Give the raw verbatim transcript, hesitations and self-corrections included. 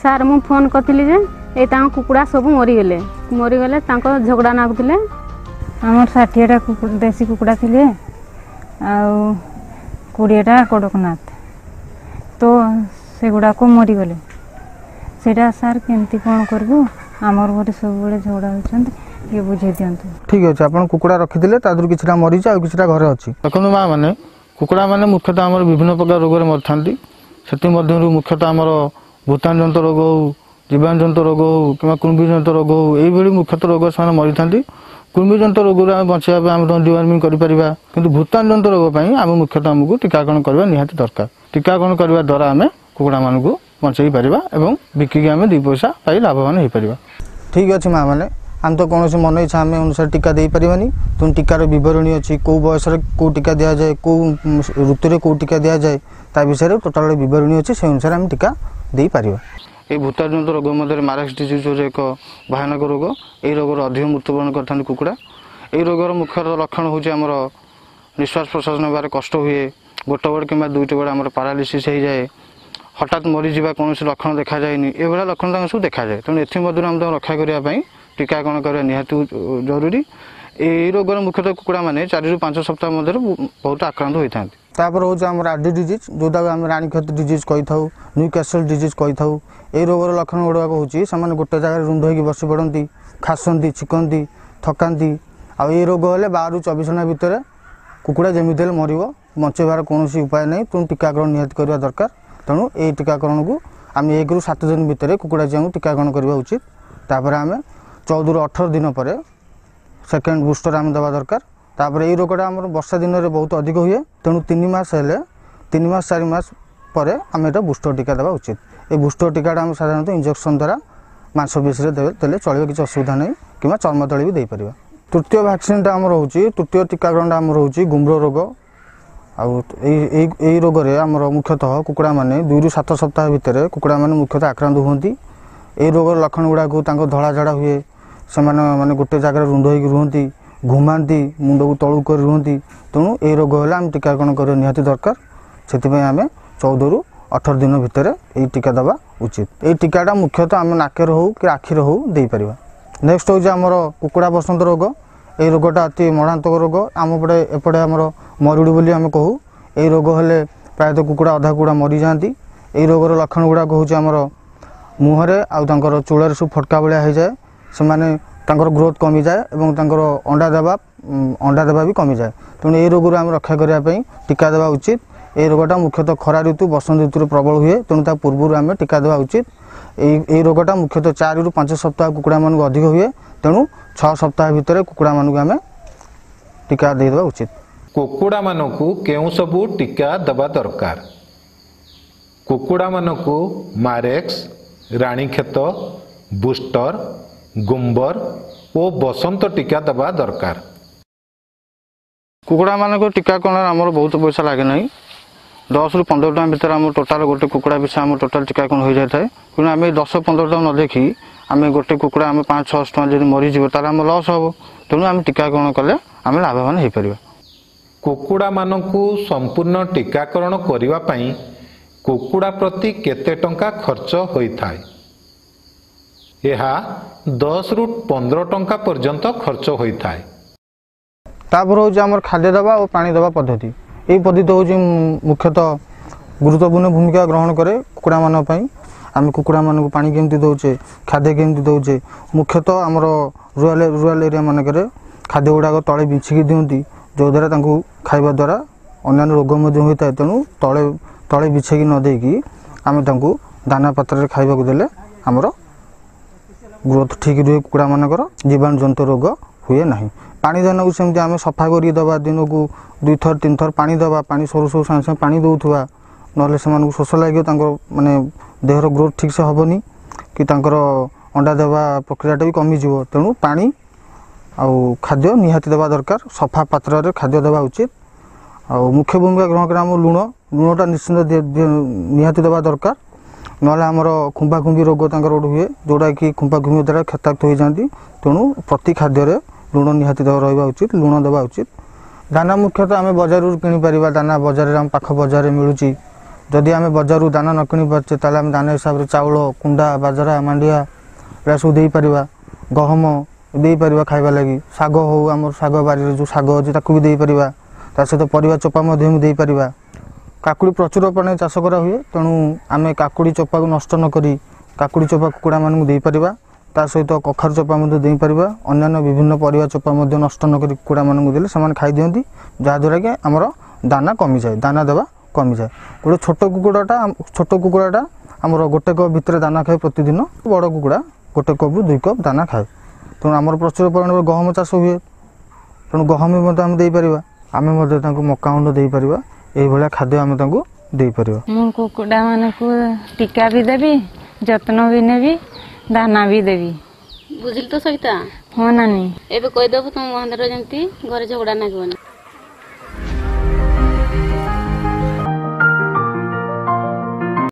Sir, ମୁଁ phone କରିଥିଲି ଯେ ଏଇ ତାଙ୍କ କୁକୁଡ଼ା ସବୁ ମରିଗଲେ ମରିଗଲେ ତାଙ୍କ ଝଗଡ଼ା ନାଗୁଥିଲେ। ଆମର ଷାଠିଏଟା ଦେଶୀ କୁକୁଡ଼ା ଥିଲେ ଆଉ କୋଡ଼ିଏଟା କଡ଼କନାଥ, ତ ସେଗୁଡ଼ାକ ମରିଗଲେ। ସେଇଟା ସାର୍, କେମିତି କ'ଣ କରିବୁ? ଆମର ଘରେ ସବୁବେଳେ ଝଗଡ଼ା ହେଉଛନ୍ତି, ଟିକେ ବୁଝେଇ ଦିଅନ୍ତୁ। ଠିକ୍ ଅଛି, ଆପଣ କୁକୁଡ଼ା ରଖିଥିଲେ, ତା ଦେହରୁ କିଛିଟା ମରିଛି ଆଉ କିଛିଟା ଘରେ ଅଛି। ଦେଖନ୍ତୁ ମା ମାନେ, କୁକୁଡ଼ା ମାନେ ମୁଖ୍ୟତଃ ଆମର ବିଭିନ୍ନ ପ୍ରକାର ରୋଗରେ ମରିଥାନ୍ତି। ସେଥିମଧ୍ୟରୁ ମୁଖ୍ୟତଃ ଆମର ଭୂତାଣୁ ଜନିତ ରୋଗ ହେଉ, ଜୀବାଣୁ ଜନିତ ରୋଗ ହେଉ କିମ୍ବା କୃମି ଜନିତ ରୋଗ ହେଉ, ଏଇଭଳି ମୁଖ୍ୟତଃ ରୋଗ ସେମାନେ ମରିଥାନ୍ତି। କୃମି ଜନିତ ରୋଗରୁ ଆମେ ବଞ୍ଚିବା ପାଇଁ ଆମେ ଡିୱାର୍ମିଂ କରିପାରିବା, କିନ୍ତୁ ଭୂତାଣୁ ଜନିତ ରୋଗ ପାଇଁ ଆମେ ମୁଖ୍ୟତଃ ଆମକୁ ଟୀକାକରଣ କରିବା ନିହାତି ଦରକାର। ଟୀକାକରଣ କରିବା ଦ୍ୱାରା ଆମେ କୁକୁଡ଼ାମାନଙ୍କୁ ବଞ୍ଚେଇ ପାରିବା ଏବଂ ବିକିକି ଆମେ ଦୁଇ ପଇସା ପାଇ ଲାଭବାନ ହେଇପାରିବା। ଠିକ୍ ଅଛି ମା ମାନେ, ଆମେ ତ କୌଣସି ମନ ଇଚ୍ଛା ଆମେ ଅନୁସାରେ ଟୀକା ଦେଇପାରିବାନି। ତେଣୁ ଟୀକାର ବିବରଣୀ ଅଛି, କେଉଁ ବୟସରେ କେଉଁ ଟୀକା ଦିଆଯାଏ, କେଉଁ ଋତୁରେ କେଉଁ ଟୀକା ଦିଆଯାଏ, ତା ବିଷୟରେ ଟୋଟାଲ ବିବରଣୀ ଅଛି, ସେ ଅନୁସାରେ ଆମେ ଟୀକା ଦେଇପାରିବା। ଏହି ଭୂତାଣୁ ଜନିତ ରୋଗ ମଧ୍ୟରେ ମାରେକ୍ସ ଡିଜିଜ୍ ହେଉଛି ଏକ ଭୟାନକ ରୋଗ। ଏହି ରୋଗର ଅଧିକ ମୃତ୍ୟୁବରଣ କରିଥାନ୍ତି କୁକୁଡ଼ା। ଏହି ରୋଗର ମୁଖ୍ୟ ଲକ୍ଷଣ ହେଉଛି ଆମର ନିଶ୍ୱାସ ପ୍ରଶ୍ୱାସ ନେବାରେ କଷ୍ଟ ହୁଏ, ଗୋଟେ ଗୋଡ଼ କିମ୍ବା ଦୁଇଟି ଗୋଡ଼ ଆମର ପାରାଲିସିସ୍ ହେଇଯାଏ, ହଠାତ୍ ମରିଯିବା, କୌଣସି ଲକ୍ଷଣ ଦେଖାଯାଏନି, ଏଭଳିଆ ଲକ୍ଷଣ ତାଙ୍କ ସବୁ ଦେଖାଯାଏ। ତେଣୁ ଏଥିମଧ୍ୟରୁ ଆମେ ତାଙ୍କୁ ରକ୍ଷା କରିବା ପାଇଁ ଟୀକାକରଣ କରିବା ନିହାତି ଜରୁରୀ। ଏହି ରୋଗର ମୁଖ୍ୟତଃ କୁକୁଡ଼ାମାନେ ଚାରିରୁ ପାଞ୍ଚ ସପ୍ତାହ ମଧ୍ୟରେ ବହୁତ ଆକ୍ରାନ୍ତ ହୋଇଥାନ୍ତି। ତାପରେ ହେଉଛି ଆମର ଆଡି ଡିଜିଜ୍, ଯେଉଁଟାକୁ ଆମେ ରାଣୀକ୍ଷତ ଡିଜିଜ୍ କହିଥାଉ, ନ୍ୟୁ କ୍ୟାସଲ୍ ଡିଜିଜ୍ କହିଥାଉ। ଏହି ରୋଗର ଲକ୍ଷଣ ଗୁଡ଼ାକ ହେଉଛି ସେମାନେ ଗୋଟେ ଜାଗାରେ ରୁଣ୍ଡ ହେଇକି ବସି ପଡ଼ନ୍ତି, ଖାସନ୍ତି, ଛିକନ୍ତି, ଥକାନ୍ତି। ଆଉ ଏଇ ରୋଗ ହେଲେ ବାରରୁ ଚବିଶ ଘଣ୍ଟା ଭିତରେ କୁକୁଡ଼ା ଯେମିତି ହେଲେ ମରିବ, ବଞ୍ଚେଇବାର କୌଣସି ଉପାୟ ନାହିଁ। ତେଣୁ ଟୀକାକରଣ ନିହାତି କରିବା ଦରକାର। ତେଣୁ ଏଇ ଟୀକାକରଣକୁ ଆମେ ଏକରୁ ସାତ ଦିନ ଭିତରେ କୁକୁଡ଼ା ଚିଆଁକୁ ଟୀକାକରଣ କରିବା ଉଚିତ। ତାପରେ ଆମେ ଚଉଦରୁ ଅଠର ଦିନ ପରେ ସେକେଣ୍ଡ ବୁଷ୍ଟର ଆମେ ଦେବା ଦରକାର। ତାପରେ ଏଇ ରୋଗଟା ଆମର ବର୍ଷା ଦିନରେ ବହୁତ ଅଧିକ ହୁଏ, ତେଣୁ ତିନି ମାସ ହେଲେ, ତିନି ମାସ ଚାରି ମାସ ପରେ ଆମେ ଏଇଟା ବୁଷ୍ଟର ଟୀକା ଦେବା ଉଚିତ। ଏଇ ବୁଷ୍ଟର ଟୀକାଟା ଆମେ ସାଧାରଣତଃ ଇଞ୍ଜେକ୍ସନ୍ ଦ୍ୱାରା ମାଂସପେଶୀରେ ଦେଲେ ଚଳିବ, କିଛି ଅସୁବିଧା ନାହିଁ, କିମ୍ବା ଚର୍ମ ତଳେ ବି ଦେଇପାରିବା। ତୃତୀୟ ଭ୍ୟାକ୍ସିନ୍ଟା ଆମର ହେଉଛି, ତୃତୀୟ ଟୀକାକରଣଟା ଆମର ହେଉଛି ଗୁମ୍ର ରୋଗ। ଆଉ ଏଇ ଏଇ ଏଇ ରୋଗରେ ଆମର ମୁଖ୍ୟତଃ କୁକୁଡ଼ାମାନେ ଦୁଇରୁ ସାତ ସପ୍ତାହ ଭିତରେ କୁକୁଡ଼ାମାନେ ମୁଖ୍ୟତଃ ଆକ୍ରାନ୍ତ ହୁଅନ୍ତି। ଏଇ ରୋଗର ଲକ୍ଷଣ ଗୁଡ଼ାକ ତାଙ୍କ ଧଳା ଝାଡ଼ା ହୁଏ, ସେମାନେ ମାନେ ଗୋଟେ ଜାଗାରେ ରୁଣ୍ଡ ହେଇକି ରୁହନ୍ତି, ଘୁମାନ୍ତି, ମୁଣ୍ଡକୁ ତଳକୁ କରି ରୁହନ୍ତି। ତେଣୁ ଏଇ ରୋଗ ହେଲେ ଆମେ ଟୀକାକରଣ କରିବା ନିହାତି ଦରକାର। ସେଥିପାଇଁ ଆମେ ଚଉଦରୁ ଅଠର ଦିନ ଭିତରେ ଏଇ ଟୀକା ଦେବା ଉଚିତ। ଏଇ ଟୀକାଟା ମୁଖ୍ୟତଃ ଆମେ ନାକରେ ହେଉ କି ଆଖିରେ ହେଉ ଦେଇପାରିବା। ନେକ୍ସଟ ହେଉଛି ଆମର କୁକୁଡ଼ା ବସନ୍ତ ରୋଗ। ଏଇ ରୋଗଟା ଅତି ମରଣାନ୍ତକ ରୋଗ। ଆମ ପଟେ ଏପଟେ ଆମର ମରୁଡ଼ି ବୋଲି ଆମେ କହୁ। ଏଇ ରୋଗ ହେଲେ ପ୍ରାୟତଃ କୁକୁଡ଼ା ଅଧା କୁକୁଡ଼ା ମରିଯାଆନ୍ତି। ଏଇ ରୋଗର ଲକ୍ଷଣ ଗୁଡ଼ାକ ହେଉଛି ଆମର ମୁହଁରେ ଆଉ ତାଙ୍କର ଚୂଳରେ ସବୁ ଫଟକା ଭଳିଆ ହେଇଯାଏ, ସେମାନେ ତାଙ୍କର ଗ୍ରୋଥ୍ କମିଯାଏ ଏବଂ ତାଙ୍କର ଅଣ୍ଡା ଦେବା ଅଣ୍ଡା ଦେବା ବି କମିଯାଏ। ତେଣୁ ଏଇ ରୋଗରୁ ଆମେ ରକ୍ଷା କରିବା ପାଇଁ ଟୀକା ଦେବା ଉଚିତ। ଏଇ ରୋଗଟା ମୁଖ୍ୟତଃ ଖରା ଋତୁ, ବସନ୍ତ ଋତୁରେ ପ୍ରବଳ ହୁଏ, ତେଣୁ ତା ପୂର୍ବରୁ ଆମେ ଟୀକା ଦେବା ଉଚିତ। ଏଇ ଏଇ ରୋଗଟା ମୁଖ୍ୟତଃ ଚାରିରୁ ପାଞ୍ଚ ସପ୍ତାହ କୁକୁଡ଼ାମାନଙ୍କୁ ଅଧିକ ହୁଏ, ତେଣୁ ଛଅ ସପ୍ତାହ ଭିତରେ କୁକୁଡ଼ାମାନଙ୍କୁ ଆମେ ଟୀକା ଦେଇଦେବା ଉଚିତ। କୁକୁଡ଼ାମାନଙ୍କୁ କେଉଁ ସବୁ ଟୀକା ଦେବା ଦରକାର? କୁକୁଡ଼ାମାନଙ୍କୁ ମାରେକ୍ସ, ରାଣୀକ୍ଷେତ, ବୁଷ୍ଟର, ଗୁମ୍ବର ଓ ବସନ୍ତ ଟୀକା ଦେବା ଦରକାର। କୁକୁଡ଼ାମାନଙ୍କ ଟୀକାକରଣରେ ଆମର ବହୁତ ପଇସା ଲାଗେ ନାହିଁ। ଦଶରୁ ପନ୍ଦର ଟଙ୍କା ଭିତରେ ଆମର ଟୋଟାଲ ଗୋଟେ କୁକୁଡ଼ା ପିଛା ଆମର ଟୋଟାଲ ଟୀକାକରଣ ହୋଇଯାଇଥାଏ। ତେଣୁ ଆମେ ଦଶ ପନ୍ଦର ଟଙ୍କା ନ ଦେଖି ଆମେ ଗୋଟେ କୁକୁଡ଼ା ଆମେ ପାଞ୍ଚ ଛଅଶହ ଟଙ୍କା ଯଦି ମରିଯିବ, ତାହେଲେ ଆମ ଲସ୍ ହେବ। ତେଣୁ ଆମେ ଟୀକାକରଣ କଲେ ଆମେ ଲାଭବାନ ହେଇପାରିବା। କୁକୁଡ଼ାମାନଙ୍କୁ ସମ୍ପୂର୍ଣ୍ଣ ଟୀକାକରଣ କରିବା ପାଇଁ କୁକୁଡ଼ା ପ୍ରତି କେତେ ଟଙ୍କା ଖର୍ଚ୍ଚ ହୋଇଥାଏ? ଏହା ଦଶରୁ ପନ୍ଦର ଟଙ୍କା ପର୍ଯ୍ୟନ୍ତ ଖର୍ଚ୍ଚ ହୋଇଥାଏ। ତାପରେ ହେଉଛି ଆମର ଖାଦ୍ୟ ଦେବା ଓ ପାଣି ଦେବା ପଦ୍ଧତି। ଏଇ ପଦ୍ଧତି ହେଉଛି ମୁଖ୍ୟତଃ ଗୁରୁତ୍ୱପୂର୍ଣ୍ଣ ଭୂମିକା ଗ୍ରହଣ କରେ କୁକୁଡ଼ାମାନଙ୍କ ପାଇଁ। ଆମେ କୁକୁଡ଼ାମାନଙ୍କୁ ପାଣି କେମିତି ଦେଉଛେ, ଖାଦ୍ୟ କେମିତି ଦେଉଛେ। ମୁଖ୍ୟତଃ ଆମର ରୁରାଲ ରୁରାଲ ଏରିଆ ମାନଙ୍କରେ ଖାଦ୍ୟ ଗୁଡ଼ାକ ତଳେ ବିଛିକି ଦିଅନ୍ତି, ଯେଉଁଦ୍ୱାରା ତାଙ୍କୁ ଖାଇବା ଦ୍ୱାରା ଅନ୍ୟାନ୍ୟ ରୋଗ ମଧ୍ୟ ହୋଇଥାଏ। ତେଣୁ ତଳେ ତଳେ ବିଛେଇକି ନ ଦେଇକି ଆମେ ତାଙ୍କୁ ଦାନା ପାତ୍ରରେ ଖାଇବାକୁ ଦେଲେ ଆମର ଗ୍ରୋଥ୍ ଠିକ୍ ରୁହେ, କୁକୁଡ଼ାମାନଙ୍କର ଜୀବାଣୁ ଜନିତ ରୋଗ ହୁଏ ନାହିଁ। ପାଣି ଦାନାକୁ ସେମିତି ଆମେ ସଫା କରିକି ଦେବା, ଦିନକୁ ଦୁଇଥର ତିନିଥର ପାଣି ଦେବା, ପାଣି ସରୁ ସରୁ ସାଙ୍ଗେ ସାଙ୍ଗେ ପାଣି ଦେଉଥିବା, ନହେଲେ ସେମାନଙ୍କୁ ଶୋଷ ଲାଗିବ, ତାଙ୍କର ମାନେ ଦେହର ଗ୍ରୋଥ୍ ଠିକ୍ସେ ହେବନି କି ତାଙ୍କର ଅଣ୍ଡା ଦେବା ପ୍ରକ୍ରିୟାଟା ବି କମିଯିବ। ତେଣୁ ପାଣି ଆଉ ଖାଦ୍ୟ ନିହାତି ଦେବା ଦରକାର, ସଫା ପାତ୍ରରେ ଖାଦ୍ୟ ଦେବା ଉଚିତ। ଆଉ ମୁଖ୍ୟ ଭୂମିକା ଗ୍ରହଣ କରି ଆମ ଲୁଣ, ଲୁଣଟା ନିଶ୍ଚିନ୍ତ ନିହାତି ଦେବା ଦରକାର, ନହେଲେ ଆମର ଖୁମ୍ପାଖୁମ୍ପି ରୋଗ ତାଙ୍କର ଗୋଟେ ହୁଏ, ଯେଉଁଟାକି ଖୁମ୍ପାଖୁମ୍ପି ଦ୍ୱାରା କ୍ଷତାକ୍ତ ହୋଇଯାଆନ୍ତି। ତେଣୁ ପ୍ରତି ଖାଦ୍ୟରେ ଲୁଣ ନିହାତି ରହିବା ଉଚିତ, ଲୁଣ ଦେବା ଉଚିତ। ଦାନା ମୁଖ୍ୟତଃ ଆମେ ବଜାରରୁ କିଣିପାରିବା। ଦାନା ବଜାରରେ ଆମ ପାଖ ବଜାରରେ ମିଳୁଛି, ଯଦି ଆମେ ବଜାରରୁ ଦାନା ନ କିଣି ପାରୁଛେ, ତାହେଲେ ଆମେ ଦାନା ହିସାବରେ ଚାଉଳ, କୁଣ୍ଡା, ବାଜରା, ମାଣ୍ଡିଆ ଏଗୁଡ଼ା ସବୁ ଦେଇପାରିବା। ଗହମ ଦେଇପାରିବା ଖାଇବା ଲାଗି। ଶାଗ ହେଉ, ଆମର ଶାଗ ବାରିରେ ଯେଉଁ ଶାଗ ଅଛି ତାକୁ ବି ଦେଇପାରିବା। ତା ସହିତ ପରିବା ଚୋପା ମଧ୍ୟ ବି ଦେଇପାରିବା। କାକୁଡ଼ି ପ୍ରଚୁର ପରିମାଣରେ ଚାଷ କରାହୁଏ, ତେଣୁ ଆମେ କାକୁଡ଼ି ଚୋପାକୁ ନଷ୍ଟ ନ କରି କାକୁଡ଼ି ଚୋପା କୁକୁଡ଼ାମାନଙ୍କୁ ଦେଇପାରିବା। ତା ସହିତ କଖାରୁ ଚୋପା ମଧ୍ୟ ଦେଇପାରିବା। ଅନ୍ୟାନ୍ୟ ବିଭିନ୍ନ ପରିବା ଚୋପା ମଧ୍ୟ ନଷ୍ଟ ନ କରି କୁକୁଡ଼ାମାନଙ୍କୁ ଦେଲେ ସେମାନେ ଖାଇଦିଅନ୍ତି, ଯାହାଦ୍ୱାରା କି ଆମର ଦାନା କମିଯାଏ, ଦାନା ଦେବା କମିଯାଏ। ଗୋଟେ ଛୋଟ କୁକୁଡ଼ାଟା ଛୋଟ କୁକୁଡ଼ାଟା ଆମର ଗୋଟେ କପ୍ ଭିତରେ ଦାନା ଖାଏ ପ୍ରତିଦିନ। ବଡ଼ କୁକୁଡ଼ା ଗୋଟେ କପ୍ରୁ ଦୁଇ କପ୍ ଦାନା ଖାଏ। ତେଣୁ ଆମର ପ୍ରଚୁର ପରିମାଣରେ ଗହମ ଚାଷ ହୁଏ, ତେଣୁ ଗହମ ବି ମଧ୍ୟ ଆମେ ଦେଇପାରିବା। ଆମେ ମଧ୍ୟ ତାଙ୍କୁ ମକା ଗୁଣ୍ଡ ଦେଇପାରିବା। ଏଇଭଳିଆ ଖାଦ୍ୟ ଆମେ ତାଙ୍କୁ ଦେଇପାରିବା। ମୁଁ କୁକୁଡ଼ାମାନଙ୍କୁ ଟୀକା ବି ଦେବି, ଯତ୍ନ ବି ନେବି, ଦାନା ବି ଦେବି। ବୁଝିଲି ତ ସବିତା? ହଁ ନାନୀ। ଏବେ କହିଦେବୁ ତମ ମହେନ୍ଦ୍ର ଯେମିତି ଘରେ ଝଗଡ଼ା ନାଗିବନି।